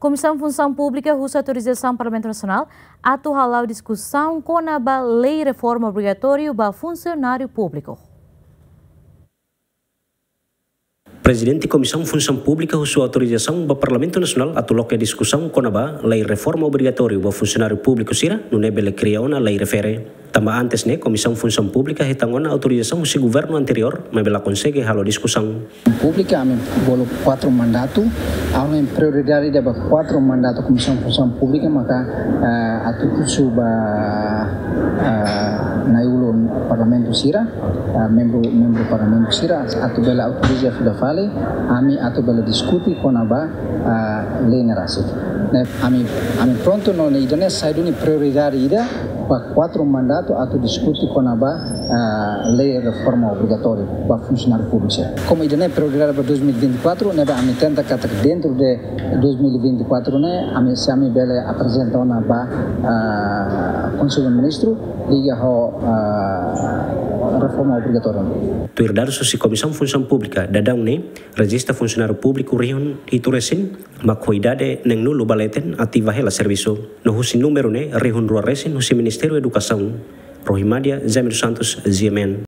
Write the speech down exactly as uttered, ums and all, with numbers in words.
Komisaun Funsaun Públika husu autorizasaun Parlamentu Nasionál atu hala'o diskusaun kona-ba lei reforma obrigatóriu ba funsionáriu públiku. Prezidente Komisaun Funsaun Públika husu autorizasaun ba Parlamentu Nasionál atu loke diskusaun kona-ba lei reforma obrigatóriu ba funsionáriu públiku sira, nune'e bele kria ona lei refere. Tanba antes ne'e, Komisaun Funsaun Públika hetan ona autorizasaun husi governu anteriór, maibé la konsege halo diskusaun. Públika, ami bolu kuatru mandatu, ami prioridade ida ba kuatru mandatu Komisaun Funsaun Públika, maka, eh, atu husu ba, eh, na'i-ulun Parlamentu sira, eh, membru, membru Parlamentu sira, atu bele autoriza fila fali, ami atu bele diskute kona-ba, eh, lei ne'e rasik. Ne'e, ami, ami prontu no ne'e ida-ne'e sai duni prioridade ida, ba kuatru mandatu atu diskute kona-ba, ah, lei reforma obrigatóriu ba funsionáriu públiku sira. Komu ida-ne'e prioridade ba dois mil e vinte e quatro, ne'ebé ami tenta katak dentru de dois mil e vinte e quatro ne'e, ami, se ami bele aprezenta ona ba, ah, Konsellu Ministru, liga ho, ah, reforma obrigatóriu. Tuir dadus husi Komisaun Funsaun Públika, daudaun ne'e rejista funsionáriu públiku rihun hitu resin, mak ho idade neenulu ba leten ativa hela servisu. No husi númeru ne'e rihun rua resin husi Ministériu Edukasaun. Rohimadia, Jaime dos Santos, G M N.